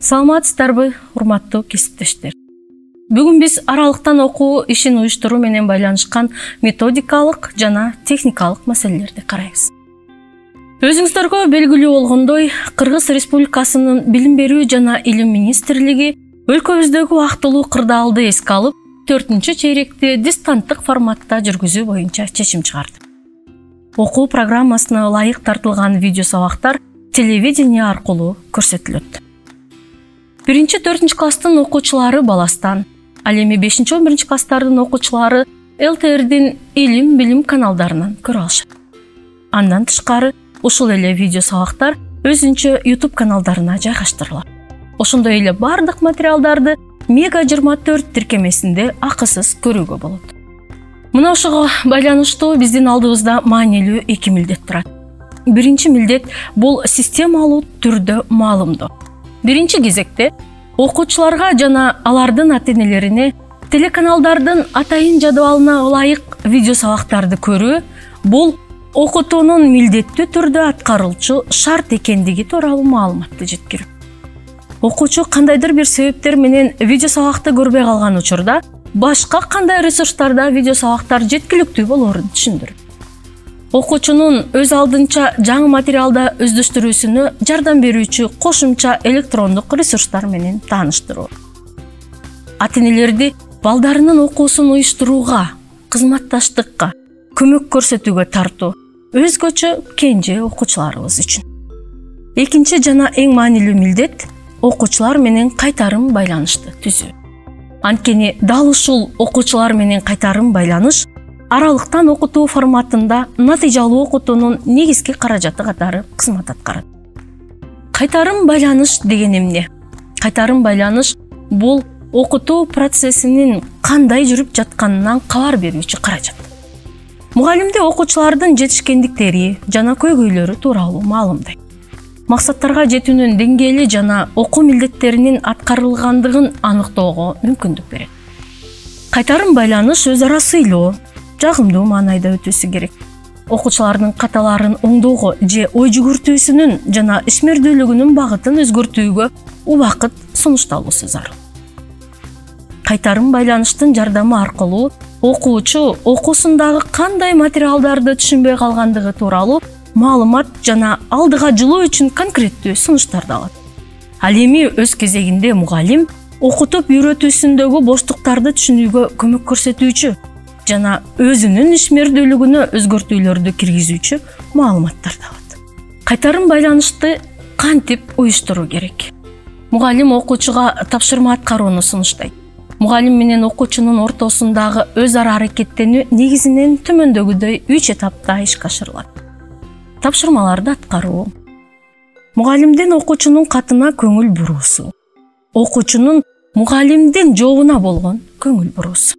Саламатсыздарбы, урматтуу кесиптештер. Бүгүн биз аралыктан окуу ишин уюштуруу менен байланышкан методикалык жана техникалык маселелерди карайбыз. Өзүңүздөргө белгилүү болгондой, Кыргыз Республикасынын Билим берүү жана Илим министрлиги өлкөбүздөгү убактылуу кырдаалды эске алып, 4-чейректи дистанттык форматта жүргүзүү боюнча чечим чыгарды. Окуу программасына ылайык тартылган видео сабактар телевидение аркылуу көрсөтүлөт. 1-4 класстын окуучулары Баластан, ал эми 5-11 класстардын окуучулары ЛТРдин Илим Билим каналдарынан көрө алышат. Андан тышкары ушул эле видео сабактар өзүнчө YouTube каналдарына жайгаштырылат. Ошондой эле бардык материалдарды Мега 24 тиркемесинде акысыз көрүүгө болот. Мына ошого байланыштуу биздин алдыбызда маанилүү 2 милдет турат. Биринчи милдет бул системалуу түрдө маалымдоо. Биринчи кезекте окуучуларга жана алардын ата-энелерине телеканалдардын атайын жадыбалына ылайык видео сабактарды көрүү бул окутуунун милдеттүү түрдө аткарылчу шарт экендиги тууралуу маалыматты жеткирүү. Окуучу кандайдыр бир себептер менен видео сабакты көрбөй калган учурда башка кандай ресурстарда видео сабактар жеткиликтүү болоорун түшүндүрүү. Окуучунун өз алдынча жаңы материалда өздөштүрүүсүнө жардам берүүчү кошумча электрондук ресурстар менен тааныштыруу. Ата-энелерди балдарынын окуусун уюштурууга, кызматташтыкка, көмөк көрсөтүүгө тартуу өзгөчө кенже окуучуларыбыз үчүн. Экинчи жана эң маанилүү милдет окуучулар менен кайтарым байланышты түзүү. Анткени дал ушул окуучулар менен кайтарым байланыш аралыктан окутуу форматында натыйжалуу окутуунун негизги каражаты катары кызмат аткарат. Кайтарым байланыш деген эмне? Кайтарым байланыш бул окутуу процессинин кандай жүрүп жатканынан кабар берүүчү каражат. Мугалимди окуучулардын жетишкендиктери жана көйгөйлөрү тууралуу маалымдайт. Максаттарга жетүүнүн деңгээли жана окуу милдеттеринин аткарылгандыгын аныктоого мүмкүндүк берет. Кайтарым байланыш өз ара сыйлоо, жагымдуу маанайда өтүүсү керек. Окуучулардын каталарын оңдоого же ой жүгүртүүсүнүн жана ишмердүүлүгүнүн багытын өзгөртүүгө убакыт сунушталуусу зарыл. Кайтарым байланыштын жардамы аркылуу окуучу окуусундагы кандай материалдарды түшүнбөй калгандыгы тууралуу маалымат жана алдыга жылуу үчүн конкреттүү сунуштарды алат. Ал эми өз кезегинде мугалим окутуп үйрөтүүсүндөгү боштуктарды түшүнүүгө көмөк көрсөтүүчү жана өзүнүн ишмердүүлүгүнө өзгөртүүлөрдү киргизүүчү маалыматтарды алат. Кайтарым байланышты кантип уюштуруу керек? Мугалим окуучуга тапшырма аткарууну сунуштайт. Мугалим менен окуучунун ортосундагы өз ара аракеттенүү негизинен төмөндөгүдөй 3 этапта ишке ашырылат. Тапшырмаларды аткаруу, мугалимдин окуучунун катына көңүл буруусу, окуучунун мугалимдин жообуна болгон көңүл буруусу.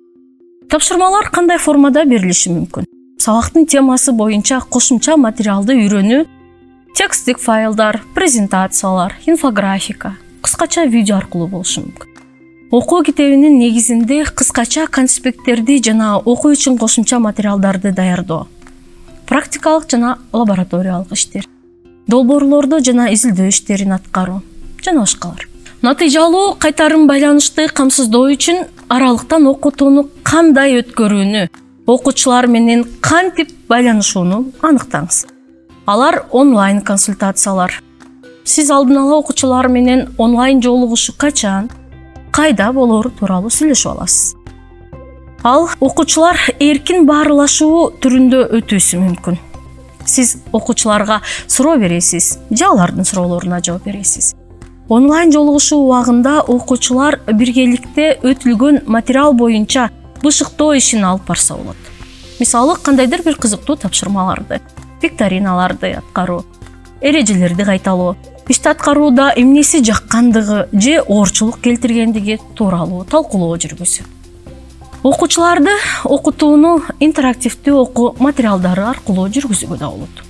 Тапшырмалар кандай формада берилиши мүмкүн? Сабактын темасы боюнча кошумча материалды үйрөнүү, текстик файлдар, презентациялар, инфографика, кыскача видео аркылуу болушу мүмкүн. Окуу китебинин негизинде кыскача конспекттерди жана окуу үчүн кошумча материалдарды даярдоо, практикалык жана лабораториялык иштер, долбоорлорду жана изилдөө иштерин аткаруу жана башкалар. Натыйжалуу кайтарым байланышты камсыздоо үчүн аралыктан окутууну кандай өткөрүүнү, окуучулар менен кантип байланышууну аныктаңыз. Алар онлайн консультациялар. Сиз алдын ала окуучулар менен онлайн жолугушу качан, кайда болоору тууралуу сүйлөшүп аласыз. Ал окуучулар эркин баарлашуу түрүндө өтүүсү мүмкүн. Сиз окуучуларга суроо бересиз, же алардын суроолоруна жооп бересиз. Онлайн жолугушуу убагында окуучулар биргеликте өтүлгөн материал боюнча бышыктоо ишин алып барса болот. Мисалы, кандайдыр бир кызыктуу тапшырмаларды, викториналарды аткаруу, эрежелерди кайталоо, ишти аткарууда эмнеси жаккандыгы же оорчулук келтиргендиги тууралуу талкуулоо жүргүзүү. Окуучуларды окутууну интерактивдүү окуу материалдары аркылуу жүргүзүүгө да болот.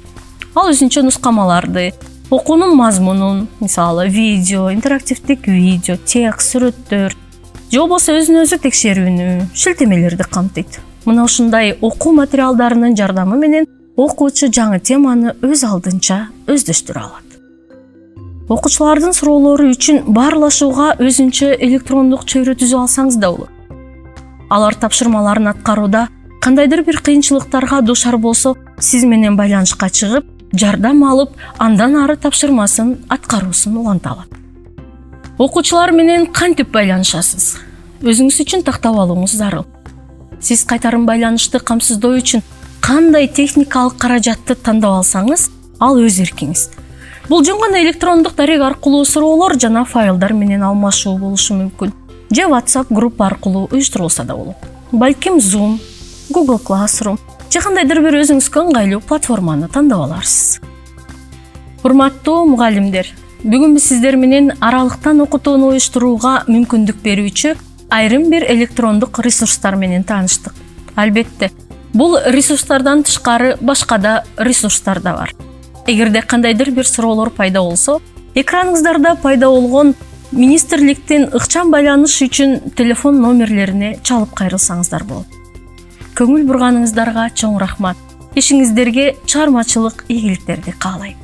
Ал өзүнчө нускамаларды, окуунун мазмунун, мисалы видео, интерактивдик видео, текст, сүрөттөр, же болбосо өзүн-өзү текшерүүнү, шилтемелерди камтыйт. Мына ушундай окуу материалдарынын жардамы менен окуучу жаңы теманы өз алдынча өздөштүрө алат. Окуучулардын суроолору үчүн баарлашууга өзүнчө электрондук чөйрө түзүп алсаңыз да болот. Алар тапшырмаларын аткарууда кандайдыр бир кыйынчылыктарга дуушар болсо, сиз менен байланышка чыгып, жардам алып, андан ары тапшырмасын аткаруусун уланта алат. Окуучулар менен кантип байланышасыз? Өзүңүз үчүн тактап алууңуз зарыл. Сиз кайтарым байланышты камсыздоо үчүн кандай техникалык каражатты тандап алсаңыз, ал өз эркиңиз. Бул жөн гана электрондук дарек аркылуу суроолор жана файлдар менен алмашуу болушу мүмкүн. Же WhatsApp группа аркылуу уюштурулса да болот. Балким Zoom, Google Classroom же кандайдыр бир өзүңүзгө ыңгайлуу платформаны тандап аларсыз. Урматтуу мугалимдер, бүгүн биз сиздер менен аралыктан окутууну уюштурууга мүмкүндүк берүүчү айрым бир электрондук ресурстар менен тааныштык. Албетте, бул ресурстардан тышкары башка да ресурстар да бар. Эгерде кандайдыр бир суроолор пайда болсо, экраныңыздарда пайда болгон министрликтин ыкчам байланыш үчүн телефон номерлерине чалып кайрылсаңыздар болот. Көңүл бурганыңыздарга чоң рахмат. Ишиңиздерге чыгармачылык ийгиликтерди каалайм.